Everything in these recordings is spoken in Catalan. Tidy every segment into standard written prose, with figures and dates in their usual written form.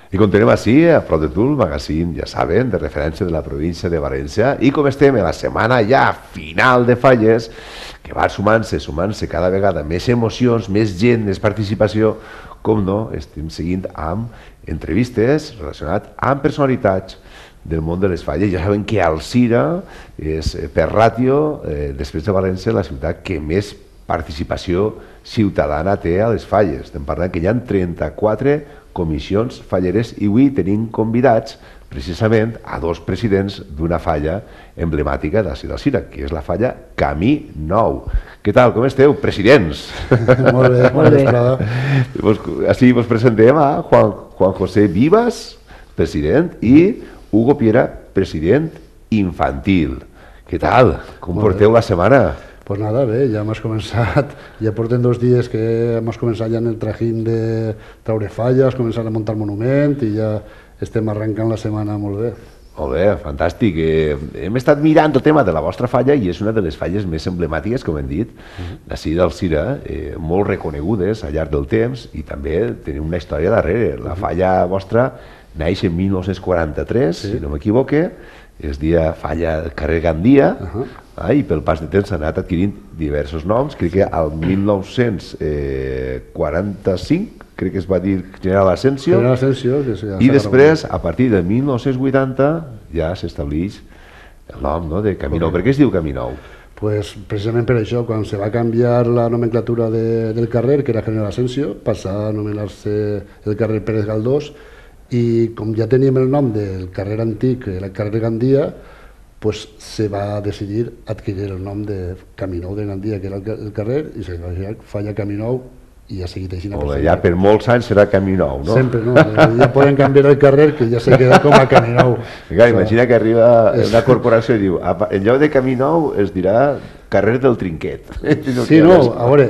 I continuem així, a Prop de Tu, el magazín, ja saben, de referència de la província de València. I com estem en la setmana ja final de falles, que va sumant-se cada vegada més emocions, més gent, més participació, com no, estem seguint amb entrevistes relacionades amb personalitats del món de les falles. Ja saben que Alzira és, per ràtio, després de València, la ciutat que més participació ciutadana té a les falles. Estem parlant que hi ha 34 comissions falleres i avui tenim convidats precisament a dos presidents d'una falla emblemàtica de la ciutat d'Alzira, que és la falla Camí Nou. Què tal, com esteu, presidents? Molt bé, molt bé. Així vos presentem a Juan José Vivas, president, i Hugo Piera, president infantil. Què tal? Com porteu la setmana? Pues nada, bé, ja hem començat, ja portem 2 dies que hem començat ja en el trajín de traure falles, començar a muntar monument i ja estem arrencant la setmana molt bé. Molt bé, fantàstic. Hem estat mirant el tema de la vostra falla i és una de les falles més emblemàtiques, com hem dit, d'ací d'Alzira, molt reconegudes al llarg del temps i també teniu una història darrere. La falla vostra naix en 1943, si no m'equivoque, es dia falla carrer Gandia, i pel pas de temps s'ha anat adquirint diversos noms. Crec que al 1945 crec que es va dir General Asensio, i després, a partir de 1980, ja s'estableix el nom de Camí Nou. Per què es diu Camí Nou? Pues precisament per això, quan se va canviar la nomenclatura del carrer, que era General Asensio, passà a anomenar-se el carrer Pérez Galdós, i com ja teníem el nom del carrer antic, el carrer Gandia, pues se va decidir adquirir el nom de Camí Nou de Gandia, que era el carrer, i se va dir falla Camí Nou, i ja ha seguit així. Ja per molts anys serà Camí Nou, no? Sempre, no? Ja poden canviar el carrer, que ja se queda com a Camí Nou. Imagina que arriba una corporació i diu, en lloc de Camí Nou es dirà carrer del Trinquet. Sí, no, a veure,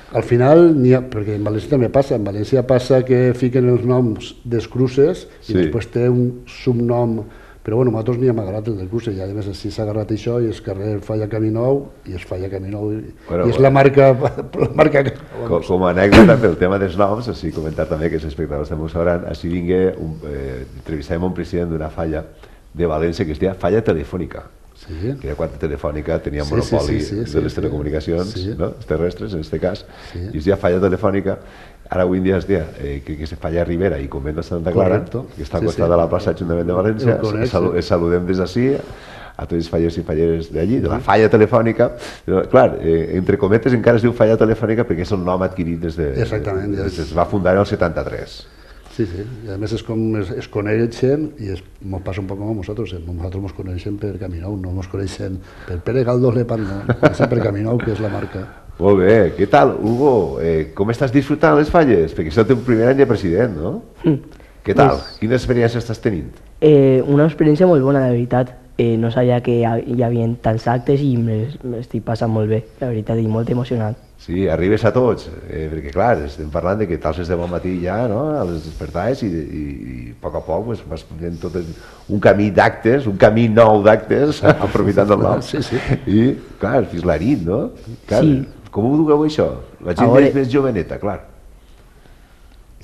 al final, perquè en València també passa, en València passa que fiquen els noms dels cruces i després té un subnom, però bueno, a nosaltres n'hi hem agarrat el del cruce i a més si s'ha agarrat això i és carrer Falla Camí Nou i es Falla Camí Nou i és la marca... Com a anècdota pel tema dels noms, així comentar també que els espectadors també ho sabran, així entrevistàvem un president d'una falla de València que es deia Falla Telefònica, que era quan Telefònica tenia monopoli de les telecomunicacions terrestres, en aquest cas, i es deia Falla Telefònica. Ara avui en dia es deia, crec que és Falla Ribera i Convent de Santa Clara, que està al costat de la plaça Ajuntament de València. Els saludem des d'ací a tots els fallers i falleres d'allí, de la Falla Telefònica. Clar, entre cometes encara es diu Falla Telefònica perquè és el nom adquirit des de... Exactament. Es va fundar en el 73. Sí, i a més és com es coneixen i ens passa un poc com a nosaltres. Nosaltres ens coneixem per Camí Nou, no ens coneixem per Pere Galdós Lepant, no, coneixem per Camí Nou, que és la marca. Molt bé, què tal, Hugo? Com estàs disfrutant les falles? Perquè és el teu primer any de president, no? Què tal? Quina experiència estàs tenint? Una experiència molt bona, de veritat. No sabia que hi havia tants actes i m'estic passant molt bé, la veritat, i molt emocionat. Sí, arribes a tots, perquè clar, estem parlant de que tals de bon matí ja, no?, a les despertades i a poc vas fent tot un camí d'actes, un camí nou d'actes, aprofitant el nom. I, clar, fins la nit, no? Sí. Com ho dugueu això? La gent és més joveneta, clar.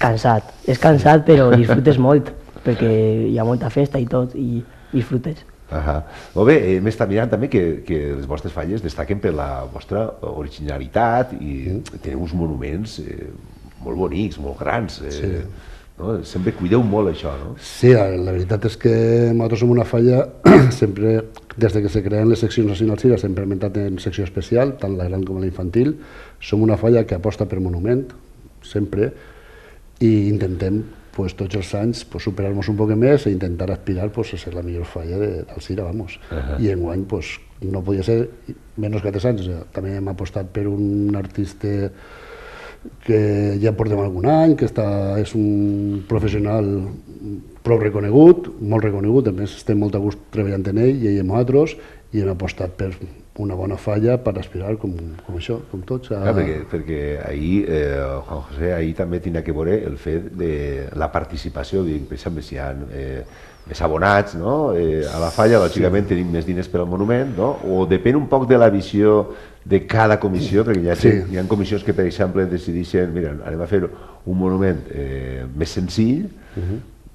Cansat, és cansat però disfrutes molt, perquè hi ha molta festa i tot, i disfrutes. Molt bé, hem estat mirant també que les vostres falles destaquen per la vostra originalitat i teniu uns monuments molt bonics, molt grans. Sempre cuideu molt això, no? Sí, la veritat és que nosaltres som una falla, sempre, des que se creen les seccions nacionals CIRA, sempre hem entrat en secció especial, tant la gran com la infantil. Som una falla que aposta per monument, sempre, i intentem tots els anys superar-nos un poc més i intentar aspirar a ser la millor falla d'Alzira, vamos. I enguany no podia ser menys que 3 anys. També hem apostat per un artista que ja portem algun any, que és un professional prou reconegut, molt reconegut, a més estem molt a gust treballant en ell i ell amb nosaltres, i hem apostat per una bona falla per aspirar com això, com tots. Perquè ahir, Juan José, ahir també tenia que veure el fet de la participació, per exemple, si hi ha més abonats a la falla, lògicament tenim més diners per al monument, o depèn un poc de la visió de cada comissió, perquè hi ha comissions que, per exemple, decideixen, mira, anem a fer un monument més senzill,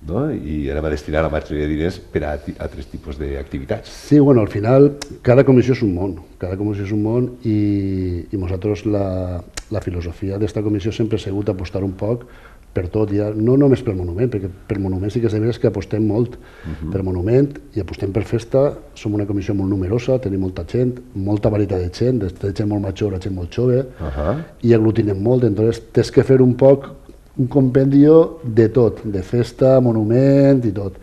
no? I anem a destinar la majoria de diners per a altres tipus d'activitats. Sí, bueno, al final cada comissió és un món, cada comissió és un món i nosaltres la filosofia d'esta comissió sempre ha sigut apostar un poc per tot, ja, no només pel monument, perquè per monument sí que és de veres que apostem molt per monument i apostem per festa, som una comissió molt numerosa, tenim molta gent, molta varietat de gent, de gent molt major a gent molt jove, i aglutinem molt, entonces tens que fer un poc un compendio de tot, de festa, monument i tot.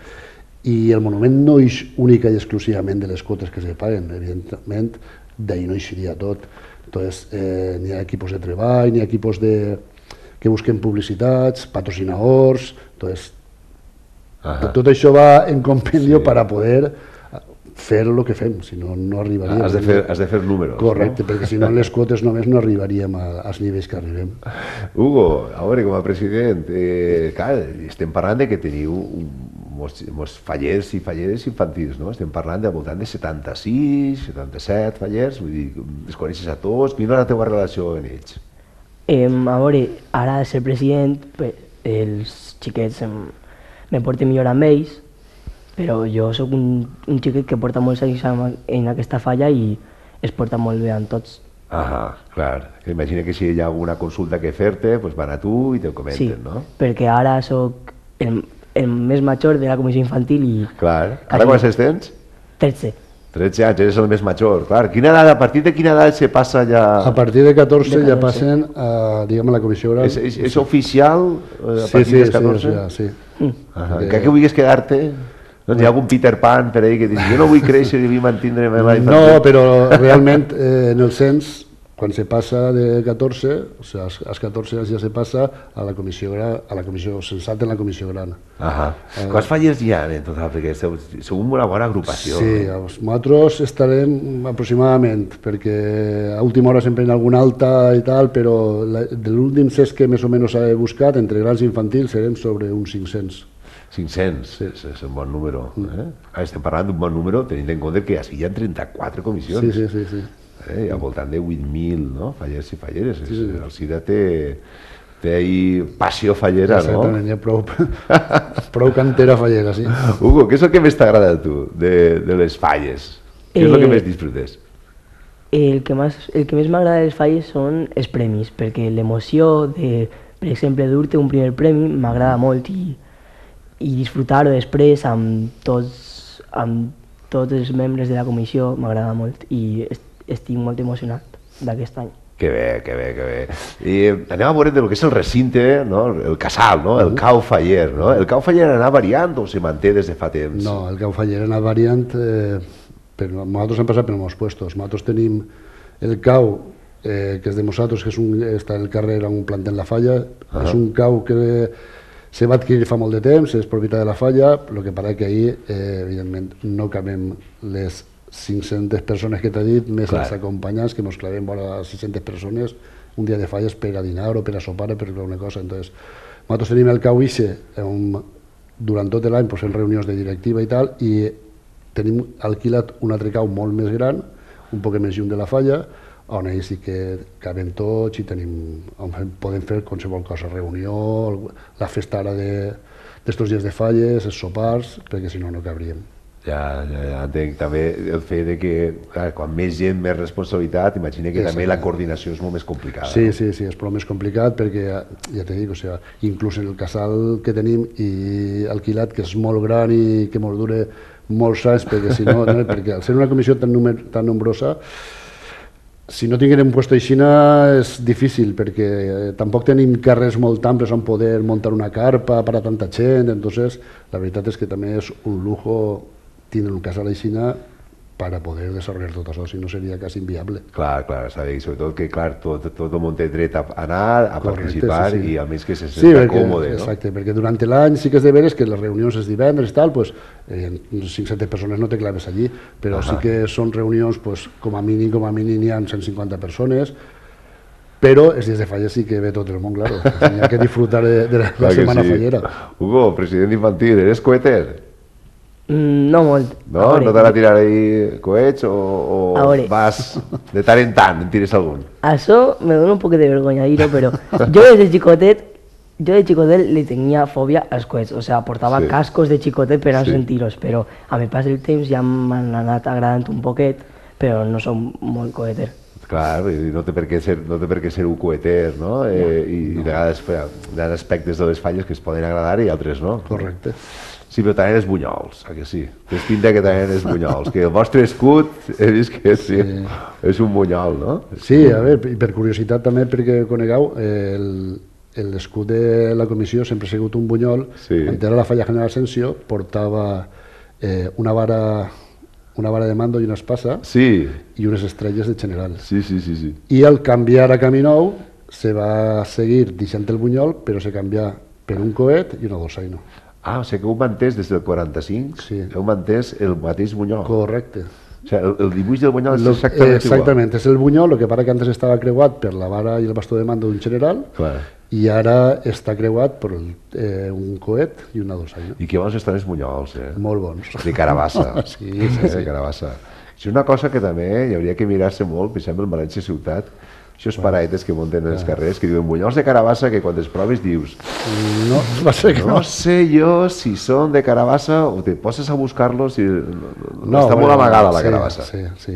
I el monument no és única i exclusivament de les quotes que se paguen, evidentment d'ahir no eixiria tot. Entonces, n'hi ha equipos de treball, n'hi ha equipos que busquen publicitats, patrocinadors, entonces, tot això va en compendio per a poder fer el que fem, si no, no arribaríem. Has de fer números. Correcte, no? Perquè si no en les quotes només no arribaríem als nivells que arribem. Hugo, a veure, com a president, clar, estem parlant de que teniu molts fallers i falleres infantils, no? Estem parlant de voltant de 76, 77 fallers, vull dir, els coneixes a tots, quina és la teva relació amb ells? A veure, ara de ser president, els xiquets me porten millor amb ells, però jo sóc un xiquet que porta molts anys en aquesta falla i es porta molt bé amb tots. Clar. Imagina que si hi ha alguna consulta que fer-te, doncs van a tu i te'l comenten, no? Sí, perquè ara sóc el més major de la comissió infantil i... Clar. Ara quants anys tens? 13. 13 anys, eres el més major, clar. A partir de quina edat se passa ja... A partir de 14 ja passen a, diguem, a la comissió oral. És oficial a partir de 14? Sí. Que vulguis quedar-te? Doncs hi ha algun Peter Pan per ahí que diu jo no vull créixer i vull mantindre la infància. No, però realment en el cens, quan se passa de 14, o sigui, als 14 anys ja se passa a la comissió censat en la comissió gran. Quants fallers hi ha en total? Perquè sou una bona agrupació. Sí, nosaltres estarem aproximadament, perquè a última hora sempre hi ha alguna alta i tal, però de l'últim cens que més o menys s'ha buscat, entre grans i infantils, serem sobre uns 500. 500, és un bon número. Estem parlant d'un bon número tenint en compte que hi ha 34 comissions. Sí. I al voltant de 8.000, no? Fallers i falleres. El SIDA té ahí passió fallera, no? Exactament, hi ha prou cantera fallera, sí. Hugo, què és el que més t'agrada a tu de les falles? Què és el que més disfrutes? El que més m'agrada de les falles són els premis, perquè l'emoció de, per exemple, dur-te un primer premi m'agrada molt i disfrutar-ho després amb tots els membres de la comissió m'agrada molt i estic molt emocionat d'aquest any. Que bé. I anem a veure del que és el recinte, no? El casal, no? El cau faller, no? El cau faller anà variant o se manté des de fa temps? No, el cau faller anà variant, però nosaltres hem passat per molts puestos. Nosaltres tenim el cau, que és de nosaltres, que està al carrer en un planter en la falla, és un cau que se va adquirir fa molt de temps, és propietat de la falla, el que passa que ahir, evidentment, no cabem les 500 persones que t'he dit, més els acompanyants, que ens clavem vora 600 persones un dia de falles per a dinar o per a sopar o per alguna cosa. Entonces, nosaltres tenim el cau ixe, durant tot l'any fem reunions de directiva i tal, i tenim alquilat un altre cau molt més gran, un poc més lluny de la falla, on ells sí que cabem tots i podem fer qualsevol cosa, reunió, la festa ara d'estos dies de falles, els sopars, perquè si no, no cabríem. Ja entenc també el fet de que quan més gent, més responsabilitat, imagina que també la coordinació és molt més complicada. Sí, és prou més complicat perquè, ja t'he dit, inclús en el casal que tenim i alquilat, que és molt gran i que ens dura molts anys, perquè si no, perquè al ser una comissió tan nombrosa, si no tinguem un lloc aixina és difícil, perquè tampoc tenim carrers molt amples on poder muntar una carpa per a tanta gent, entonces la veritat és que també és un lujo tindre un casal aixina per a poder desenvolupar tot això, si no seria quasi inviable. Clar, està bé, i sobretot que tot el món té dret a anar, a participar i almenys que se senta còmode. Exacte, perquè durant l'any sí que és de veres que les reunions és divendres i tal, 500 persones no te claves allí, però sí que són reunions, com a mínim n'hi ha 150 persones, però els dies de falles sí que ve tot el món, claro. Hi ha que disfrutar de la setmana fallera. Hugo, president infantil, eres coheter? No molt. No? No t'han a tirar ahí coets o vas de tant en tires algun? Això me dona un poc de vergonya dir-ho, però jo des de xicotet Jo de xicotet li tenia fòbia als coets, o sigui, portava Sí. cascos de xicotet per a no Sí. sentir-los, però a mi pas del temps ja m'han anat agradant un poquet, però no som molt coeter. Clar, vull dir, no té per què ser un coeter, no? I de vegades hi ha aspectes de les falles que es poden agradar i altres no. Correcte. Sí, però també és bunyols, que sí? Tens pinta que també és bunyols, que el vostre escut he vist que sí, és un bunyol, no? Sí, a veure, i per curiositat també, perquè conegueu, l'escut de la comissió sempre ha sigut un bunyol. Sí. Quan era la falla General Asensio portava una vara de mando i una espasa Sí, i unes estrelles de general. sí, sí, sí, sí. I al canviar a Camí Nou se va seguir deixant el bunyol, però se canvia per un coet i una dolçaina. Ah, o sigui que heu mantès des del 45, Sí. heu mantès el mateix bunyol. Correcte. O sigui, el dibuix del bunyol és Lo- exactament igual. Exactament, és el bunyol, el que para que antes estava creuat per la vara i el bastó de mando d'un general, Clar. i ara està creuat per un coet i una dolçaina. I que bons estan els bunyols, Molt bons. De carabassa. Sí, sí, sí. De carabassa. Això és una cosa que també hi hauria que mirar-se molt, per exemple, en València Ciutat, això és paraetes que munten als carrers, que diuen bunyols de carabassa, que quan els proves dius No, va ser que no no. sé jo si són de carabassa o te poses a buscar-los i No, està molt bueno, amagada la sí, carabassa. Sí, sí,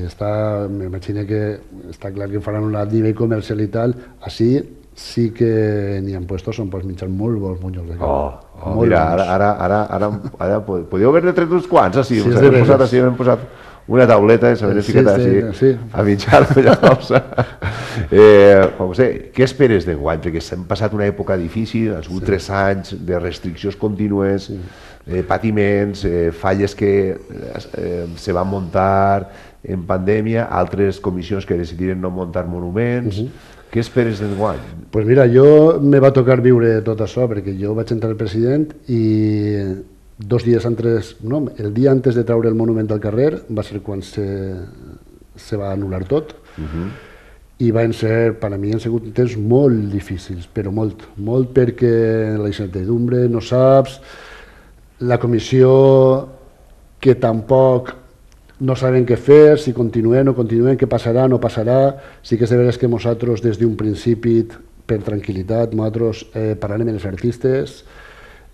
m'imagino que està clar que faran un alt nivell comercial i tal. Així sí que n'hi ha puestos on pots menjar molt bons bunyols de carabassa. Molt Mira, bons. ara podeu haver-ne tret uns quants, així, Sí, us és hem de posat veres. així, hem posat una tauleta i s'havien Sí, ficat sí, així sí. a mitjar José, què esperes d'enguany? Perquè s'han passat una època difícil, han sigut 3 anys de restriccions contínues, patiments, falles que se van muntar en pandèmia, altres comissions que decidiren no muntar monuments. Què esperes d'enguany? Pues mira, jo me va tocar viure tot això, perquè jo vaig entrar al president i 2 dies antes, no, el dia antes de treure el monument al carrer va ser quan se va anul·lar tot, i van ser, per a mi han sigut temps molt difícils, però molt, molt, perquè la incertidumbre, no saps, la comissió que tampoc no saben què fer, si continuem o no continuem, què passarà, no passarà. Sí que és de veres que nosaltres des d'un principi, per tranquil·litat, nosaltres parlàvem amb els artistes,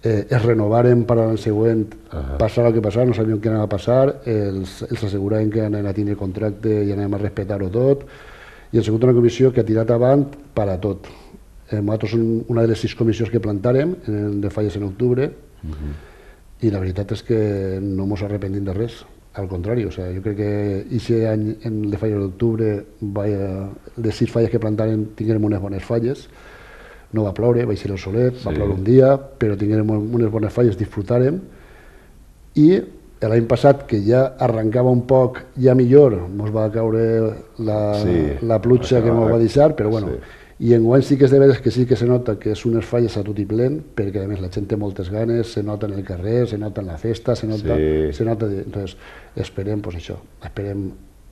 es renovaren per a l'any següent, passarà el que passarà, no sabíem què anava a passar, els asseguràvem que anaven a tenir contracte i anaven a respectar-ho tot, i ha sigut una comissió que ha tirat avant per a tot. Nosaltres som una de les 6 comissions que plantàrem de falles en octubre, i la veritat és que no mos arrepentim de res. Al contrari, o sea, jo crec que aquest any en les falles d'octubre, les 6 falles que plantaren tinguérem unes bones falles. No va ploure, va ser el solet, va ploure un dia, però tinguérem unes bones falles, disfrutàrem. I l'any passat, que ja arrencava un poc, ja millor, ens va caure la pluja que ens va deixar, però bueno. I enguany sí que és de veres que sí que se nota que és unes falles a tot i plen, perquè a més la gent té moltes ganes, se nota en el carrer, se nota en la festa, se nota... Entonces, esperem, pues això, esperem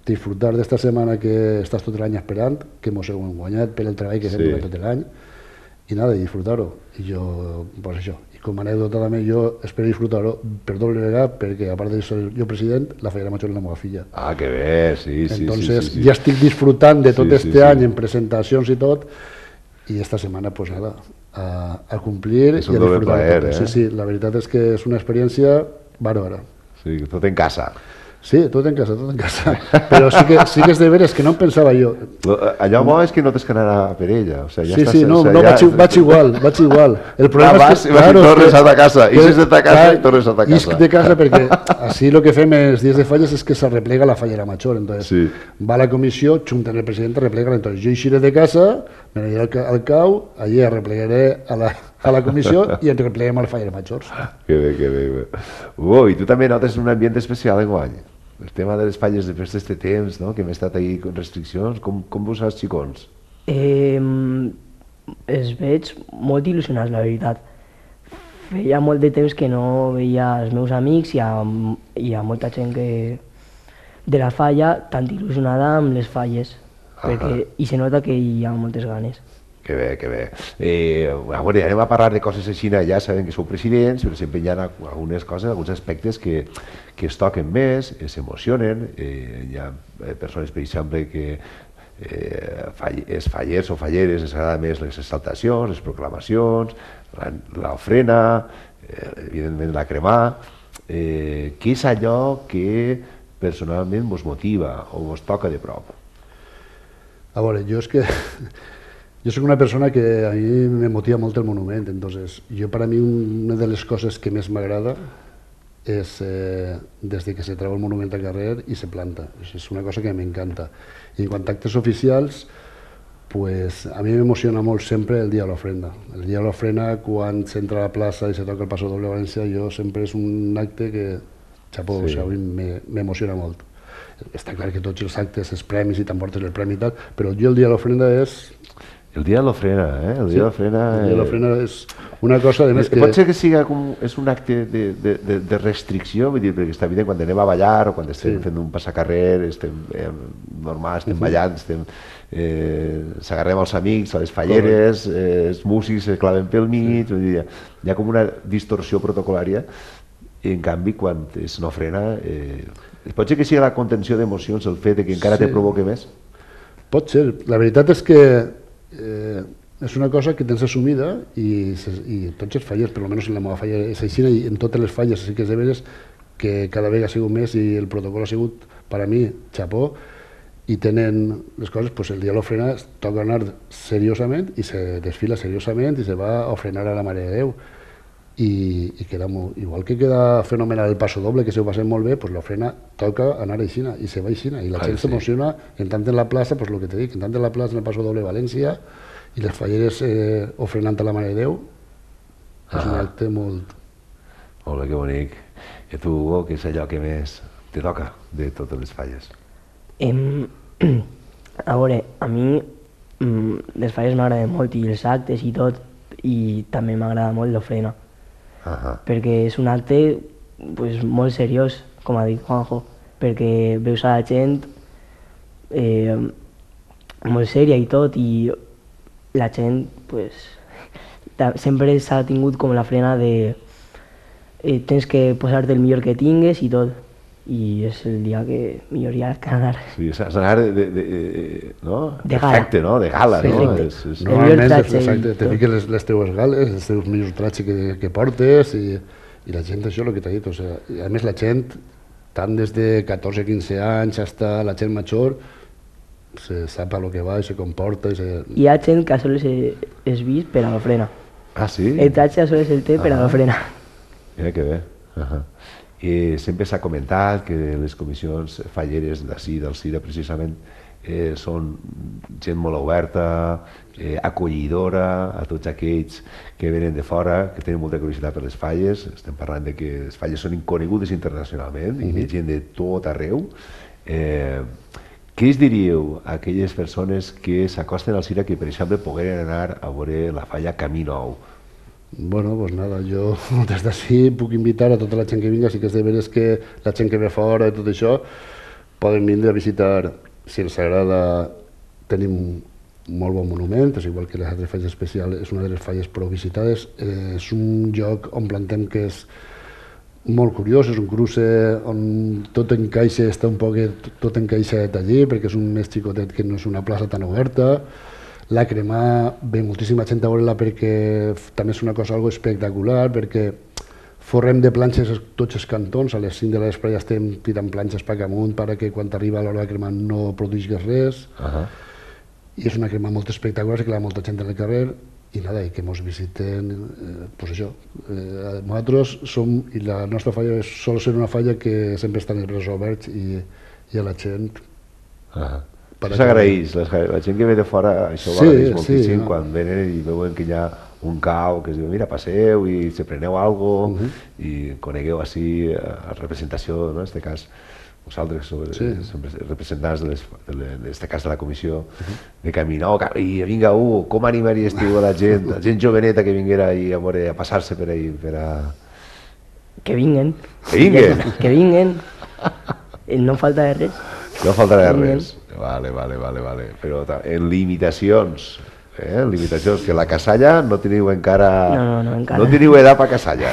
disfrutar d'esta setmana que estàs tot l'any esperant, que mos hem guanyat per el treball que fem durant tot l'any, i nada, disfrutar-ho. I jo, pues això, i com a anècdota també jo espero disfrutar-ho per doble vegada, perquè a part de ser jo president, la Fallera Major és la meva filla. Ah, que bé, sí. Entonces, ja estic disfrutant de tot este any en presentacions i tot, i esta setmana, pues nada, a complir i a disfrutar. Sí, sí, la veritat és que és una experiència bàrbara. Sí, tot en casa. Sí, tot en casa, tot en casa. Però sí que és de veres que no em pensava jo. Allò bo és que no tens que anar per ella. O sigui, ja Sí, estàs, sí, no, vaig igual. El problema és que... Vas i tornes a ta casa, ixes de ta casa i tornes a ta casa. Isc de casa perquè així el que fem els dies de falles és que se replega la Fallera Major. Entonces, va la comissió, junten el president, replega-la. Entonces, jo eixiré de casa, me n'aniré al cau, allí replegaré a la comissió i ens repleguem a la Fallera Major. Que bé, que bé. I tu també notes un ambient especial enguany? El tema de les falles després d'aquest temps, no? Que hem estat ahí amb restriccions, com vos saps, xicons? Els veig molt il·lusionats, la veritat. Feia molt de temps que no veia els meus amics i hi ha molta gent de la falla tan il·lusionada amb les falles, i se nota que hi ha moltes ganes. Que bé, que bé. Bueno, anem a parlar de coses així, ja sabem que sou presidents, però sempre hi ha algunes coses, alguns aspectes que es toquen més, s'emocionen. Hi ha persones, per exemple, que els fallers o falleres els agrada més les exaltacions, les proclamacions, l'ofrena, evidentment la cremar. Què és allò que personalment vos motiva o vos toca de prop? A veure, jo és que jo soc una persona que a mi me motiva molt el monument, entonces jo per a mi una de les coses que més m'agrada és des que se treu el monument al carrer i se planta, és una cosa que m'encanta. I en quant a actes oficials, pues a mi m'emociona molt sempre el dia de l'ofrenda. El dia de l'ofrenda, quan s'entra a la plaça i se toca el Paso Doble València, jo sempre és un acte que, xapó, sí. O sigui, m'emociona molt. Està clar que tots els actes, els premis i t'emportes el premi i tal, però jo el dia de l'ofrenda és... El dia de l'ofrena, El dia de l'ofrena... El dia de l'ofrena és una cosa, a més, que... Pot ser que sigui és un acte de restricció, vull dir, perquè està evident quan anem a ballar o quan estem fent un passacarrer, estem normal, estem ballant, s'agarrem els amics, a les falleres, els músics es claven pel mig, vull dir, hi ha com una distorsió protocolària, i en canvi quan és una ofrena... Pot ser que sigui la contenció d'emocions el fet que encara te provoque més? Pot ser. La veritat és que és una cosa que tens assumida i tots els fallers, per almenys en la meva falla és així, i en totes les falles sí que és de veres que cada vegada ha sigut més i el protocol ha sigut, per a mi, xapó, i tenen les coses, pues el dia de l'ofrena toca anar seriosament i se desfila seriosament i se va a ofrenar a la Mare de Déu. I queda molt, igual que queda fenomenal el Paso Doble, que se ho passem molt bé, pues l'ofrena toca anar aixina i se va aixina i la gent s'emociona en tant en la plaça, pues el que te dic, en tant en la plaça en el Paso Doble València i les falleres ofrenant a la Mare de Déu, és un acte molt... Molt bé, que bonic. I tu, Hugo, què és allò que més te toca de totes les falles? A veure, a mi les falles m'agraden molt i els actes i tot, i també m'agrada molt l'ofrena. Perquè és un acte pues, molt seriós, com ha dit Juanjo, perquè veus a la gent molt sèria i tot, i la gent pues, sempre s'ha tingut com la frena de tens que posar-te el millor que tingues i tot, i és el dia que millor hi ha que anar. Sí, s'ha d'anar no? De gala. Perfecte, no? De gala, perfecte. No? Normalment te fiques les teves gales, els teus millors tratges que portes i la gent, això és el que t'ha dit, o sigui, a més la gent, tant des de 14-15 anys fins a la gent major, se sap a lo que va i se comporta. Hi ha gent que sols és vist per a l'ofrena. Ah, sí? El tratge sols el té per a l'ofrena. Mira que bé. I sempre s'ha comentat que les comissions falleres d'ací, del CIRA, precisament, són gent molt oberta, acollidora a tots aquells que venen de fora, que tenen molta curiositat per les falles. Estem parlant de que les falles són conegudes internacionalment i ve gent de tot arreu. Què es diríeu a aquelles persones que s'acosten al CIRA que, per exemple, pogueren anar a veure la falla Camí Nou? Bueno, pues nada, jo des d'ací puc invitar a tota la gent que vinga, sí que és de veres que la gent que ve fora i tot això poden vindre a visitar, si els agrada. Tenim un molt bon monument, és igual que les altres falles especials, és una de les falles prou visitades, és un lloc on plantem que és molt curiós, és un cruce on tot encaixa, està un poc tot encaixat allí, perquè és un més xicotet que no és una plaça tan oberta. La cremar ve moltíssima gent a veure-la perquè també és una cosa algo espectacular, perquè forrem de planxes tots els cantons, a les 5 de la vespre ja estem tirant planxes per amunt perquè quan arriba l'hora de cremar no produïssis res. I és una crema molt espectacular, se queda molta gent al carrer i nada, i que ens visiten, pues això. Nosaltres som, i la nostra falla sol ser una falla que sempre estan els braços oberts i a la gent... Això s'agraeix, la gent que ve de fora això ho agraeix moltíssim quan venen i veuen que hi ha un cau que es diu mira, passeu i se preneu alguna cosa i conegueu així la representació, en aquest cas vosaltres som representants en aquest cas de la comissió de Camí Nou, i vinga, com animaries tu a la gent joveneta que vinguera a passar-se per ahí? Que vinguen. Que vinguen? Que vinguen. No falta de res. No faltarà res. Vale. Però en limitacions, que la casalla no teniu encara... No, encara. No teniu edat per casalla,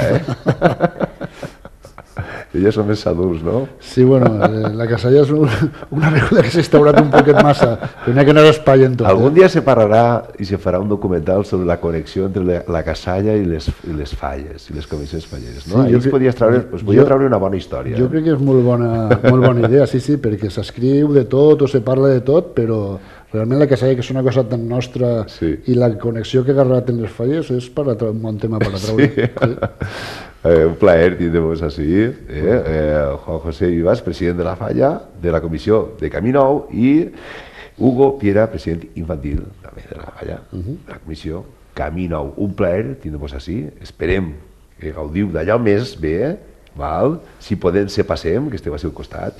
Ells són més adults, no? Sí, bueno, la Casalla és una beguda que s'ha instaurat un poquet massa, però n'hi ha que anar espai en tot. Algun dia se parlarà i se farà un documental sobre la connexió entre la Casalla i les falles, i les comissions falleres, no? Sí, Ahí es podia treure una bona història. Jo crec que és molt bona idea, sí, perquè s'escriu de tot o se parla de tot, però realment la Casalla, que és una cosa tan nostra, i la connexió que ha agarrat en les falles és un bon tema per a treure. Sí. Un plaer tindre-vos així. Juan José Vivas, president de la Falla, de la comissió de Camí Nou, i Hugo Piera, president infantil també de la Falla, de la comissió Camí Nou. Un plaer tindre-vos així. Esperem que gaudiu d'allò més bé, val? Si podem se passem, que esteu al seu costat.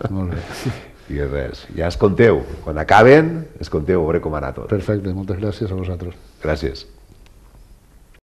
Molt bé. I res, ja es conteu. Quan acaben, es conteu, a veure com ha anat tot. Perfecte, moltes gràcies a vosaltres. Gràcies.